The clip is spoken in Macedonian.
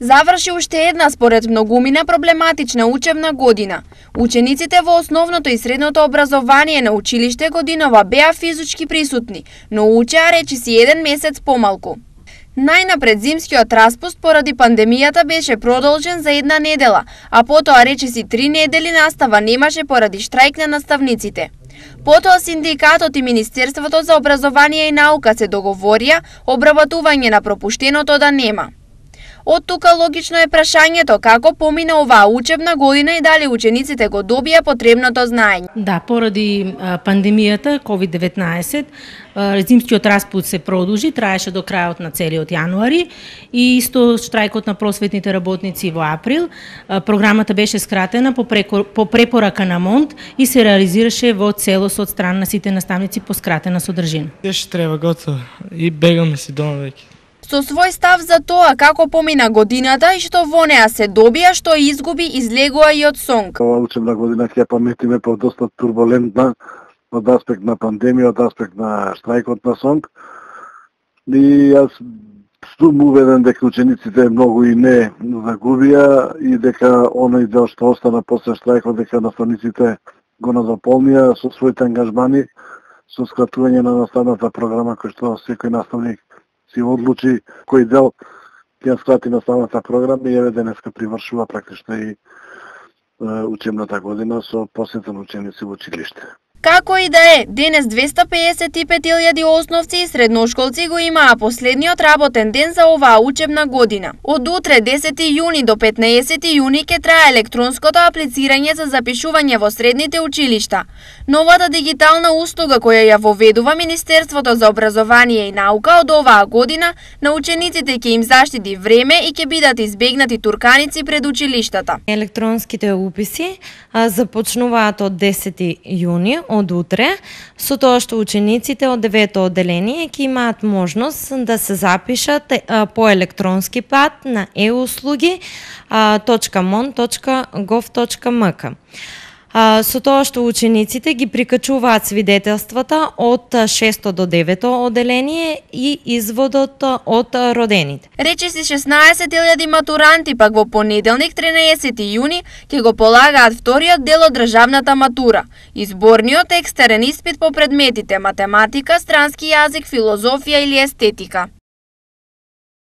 Заврши уште една според многумина проблематична учебна година. Учениците во основното и средното образование на училиште годинова беа физички присутни, но учеа речиси еден месец помалку. Најнапред зимскиот распуст поради пандемијата беше продолжен за една недела, а потоа речиси 3 недели настава немаше поради штрајк на наставниците. Потоа синдикатот и Министерството за образование и наука се договорија обработување на пропуштеното да нема. Од тука логично е прашањето како помина оваа учебна година и дали учениците го добија потребното знаење. Да, поради пандемијата COVID-19, зимскиот распуст се продолжи, траеше до крајот на целиот јануари и исто штрајкот на просветните работници во април. Програмата беше скратена по препорака на МОНД и се реализираше во целост од страна на сите наставници по скратена содржина. Беше треба готово и бегаме си дома веќе. Со свој став за тоа како помина годината и што во неа се добија, што изгуби, излегува и од СОНК. Ова учебна година ќе паметиме по доста турбулентна од аспект на пандемија, од аспект на штрајкот на СОНК. И јас сум уведен дека учениците многу и не загубија и дека оној дел што остана после штрајкот, дека наставниците го назаполнија со своите ангажмани, со скратување на наставната програма кој што секој наставник си одлучи кој дел ќе скрати наставната програма и еве денеска привршува практично и учебната година со посета на ученици во училиште. Како и да е, денес 255.000 основци и средношколци го имаа последниот работен ден за оваа учебна година. Од утре 10 јуни до 15 јуни ќе трае електронското аплицирање за запишување во средните училишта. Новата дигитална услуга која ја воведува Министерството за образование и наука од оваа година на учениците ќе им заштити време и ќе бидат избегнати турканици пред училиштата. Електронските уписи започнуваат од 10 јуни, од утре, со тоа што учениците од 9-то одделение ќе имаат можност да се запишат по електронски пат на euslugi.mon.gov.mk. Со тоа што учениците ги прикачуваат свидетелствата од 6-то до 9-то одделение и изводот од родените. Речиси 16.000 матуранти пак во понеделник 13 јуни ќе го полагаат вториот дел од државната матура. Изборниот екстерен испит по предметите математика, странски јазик, филозофија или естетика.